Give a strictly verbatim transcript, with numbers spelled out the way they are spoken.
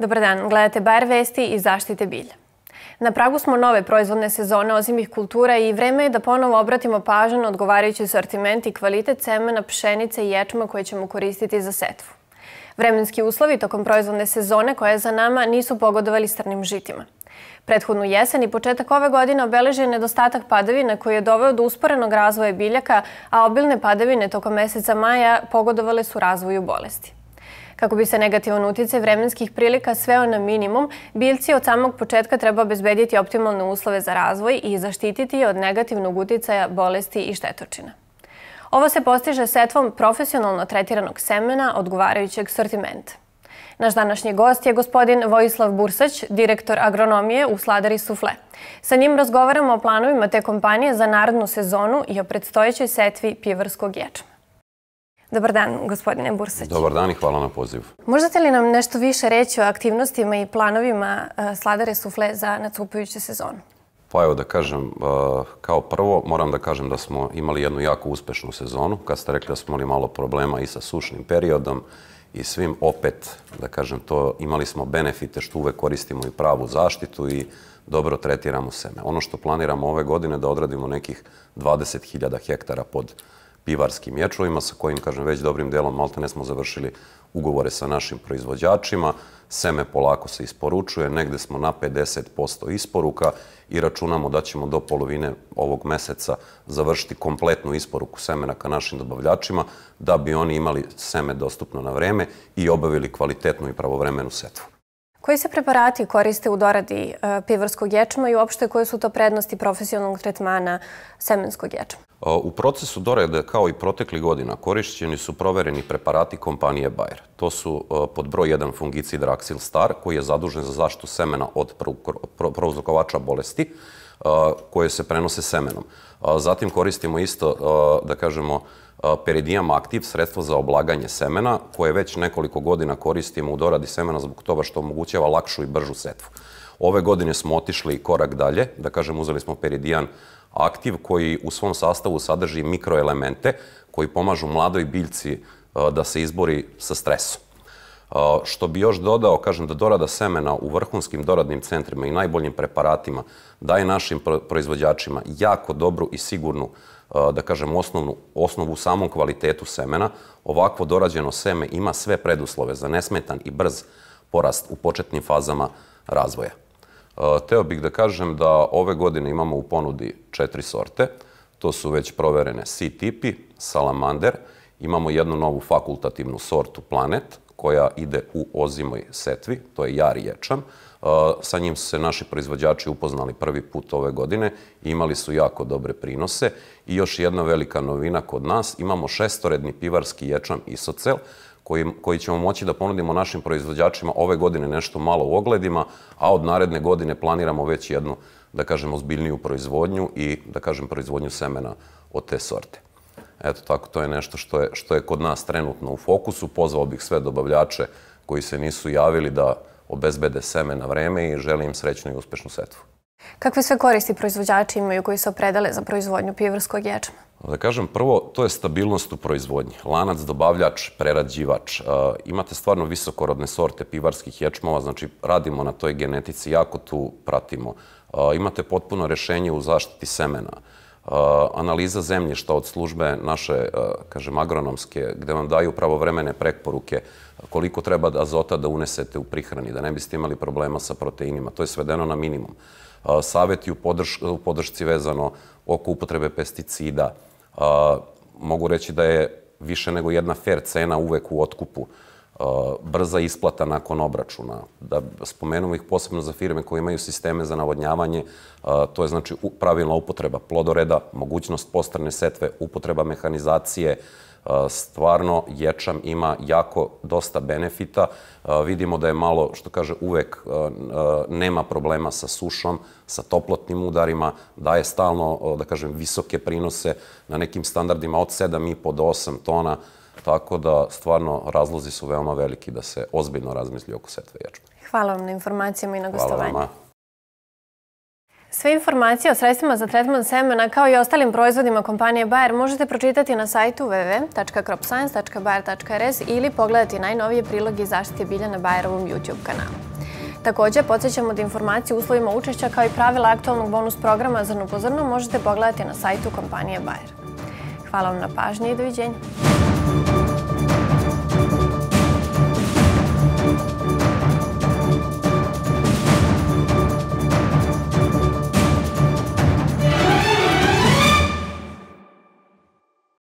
Dobar dan, gledate Bayer vesti i zaštite bilja. Na pragu smo nove proizvodne sezone ozimih kultura i vreme je da ponovo obratimo pažnju na odgovarajući asortiment i kvalitet semena, pšenice i ječma koje ćemo koristiti za setvu. Vremenski uslovi tokom proizvodne sezone koja je za nama nisu pogodovali strnim žitima. Prethodnu jesen i početak ove godine obeležio je nedostatak padavina koji je doveo do usporenog razvoja biljaka, a obilne padavine tokom meseca maja pogodovale su razvoju bolesti. Kako bi se negativan uticaj vremenskih prilika sveo na minimum, biljci od samog početka treba obezbediti optimalne uslove za razvoj i zaštititi je od negativnog uticaja bolesti i štetočina. Ovo se postiže setvom profesionalno tretiranog semena odgovarajućeg sortimenta. Naš današnji gost je gospodin Vojislav Bursać, direktor agronomije u Sladari Sufle. Sa njim razgovaramo o planovima te kompanije za narednu sezonu i o predstojećoj setvi pivarskog ječma. Dobar dan, gospodine Bursać. Dobar dan i hvala na pozivu. Možete li nam nešto više reći o aktivnostima i planovima Sladare Sufle za nastupajuću sezonu? Pa evo da kažem, kao prvo moram da kažem da smo imali jednu jako uspešnu sezonu. Kad ste rekli da smo imali malo problema i sa sušnim periodom i svim, opet, da kažem to, imali smo benefite što uvek koristimo i pravu zaštitu i dobro tretiramo seme. Ono što planiramo ove godine da odradimo nekih dvadeset hiljada hektara pod pivarskim ječmovima sa kojim, kažem, već dobrim delom maltene smo završili ugovore sa našim proizvođačima. Seme polako se isporučuje, negde smo na pedeset posto isporuka i računamo da ćemo do polovine ovog meseca završiti kompletnu isporuku semena ka našim dobavljačima da bi oni imali seme dostupno na vreme i obavili kvalitetnu i pravovremenu setvu. Koji se preparati koriste u doradi pivarskog ječma i uopšte koje su to prednosti profesionalnog tretmana semenskog ječma? U procesu dorade, kao i proteklih godina, korišćeni su provereni preparati kompanije Bayer. To su pod broj jedan fungicid Raxil Star, koji je zadužen za zaštitu semena od prouzrokovača bolesti koje se prenose semenom. Zatim koristimo isto, da kažemo, Peridium Active, sredstvo za oblaganje semena, koje već nekoliko godina koristimo u doradi semena zbog toga što omogućava lakšu i bržu setvu. Ove godine smo otišli korak dalje, da kažem, uzeli smo Peridium Active koji u svom sastavu sadrži mikroelemente koji pomažu mladoj biljci da se izbori sa stresom. Što bi još dodao, kažem da dorada semena u vrhunskim doradnim centrima i najboljim preparatima daje našim proizvođačima jako dobru i sigurnu, da kažem, osnovnu, osnovu u samom kvalitetu semena. Ovakvo dorađeno seme ima sve preduslove za nesmetan i brz porast u početnim fazama razvoja. Teo bih da kažem da ove godine imamo u ponudi četiri sorte. To su već proverene C-tipi, Salamander, imamo jednu novu fakultativnu sortu Planet, koja ide u ozimoj setvi, to je jari ječam. Sa njim su se naši proizvođači upoznali prvi put ove godine i imali su jako dobre prinose. I još jedna velika novina kod nas, imamo šestoredni pivarski ječam Isocel, koji, koji ćemo moći da ponudimo našim proizvođačima ove godine nešto malo u ogledima, a od naredne godine planiramo već jednu, da kažem, ozbiljniju proizvodnju i, da kažem, proizvodnju semena od te sorte. Eto, tako, to je nešto što je, što je kod nas trenutno u fokusu. Pozvao bih sve dobavljače koji se nisu javili da obezbede seme na vreme i želim im srećnu i uspešnu setvu. Kakve sve koristi proizvođači imaju koji se opredele za proizvodnju pivarskog ječma? Da kažem, prvo, to je stabilnost u proizvodnji. Lanac, dobavljač, prerađivač. Imate stvarno visokorodne sorte pivarskih ječmova, znači radimo na toj genetici, jako tu pratimo. Imate potpuno rešenje u zaštiti semena. Analiza zemljišta od službe naše, kažem, agronomske, gde vam daju pravovremene preporuke koliko treba azota da unesete u prihrani, da ne biste imali problema sa proteinima. To je svedeno na minimum. Saveti u podršci vezano oko upotrebe pesticida. Mogu reći da je više nego jedna fair cena uvek u otkupu. Brza isplata nakon obračuna. Da spomenemo ih posebno za firme koje imaju sisteme za navodnjavanje, to je znači pravilna upotreba plodoreda, mogućnost postrane setve, upotreba mehanizacije. Stvarno, ječam ima jako dosta benefita. Vidimo da je malo, što kaže, uvek nema problema sa sušom, sa toplotnim udarima, daje stalno, da kažem, visoke prinose na nekim standardima od sedam i po do osam tona. Tako da, stvarno, razlozi su veoma veliki da se ozbiljno razmisli oko setve ječma. Hvala vam na informacijama i na gostovanju. Hvala vama. Sve informacije o sredstvima za tretman semena kao i ostalim proizvodima kompanije Bayer možete pročitati na sajtu w w w tačka crop science tačka bayer tačka r s ili pogledati najnovije priloge i zaštite bilja na Bayerovom YouTube kanalu. Također, podsjećamo da informacije o uslovima učešća kao i pravila aktualnog bonus programa Zrno po zrno možete pogledati na sajtu kompanije Bayer. Hvala vam na pažnji i doviđenja.